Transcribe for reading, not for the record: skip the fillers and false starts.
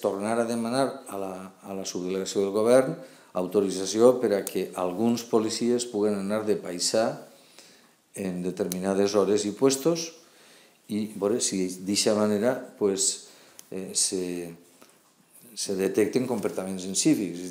tornar a demanar a la subdelegació del govern autorització per a que alguns policies puguen anar de paisà en determinades hores i puestos i veure si d'aquesta manera se detecten comportaments incívics.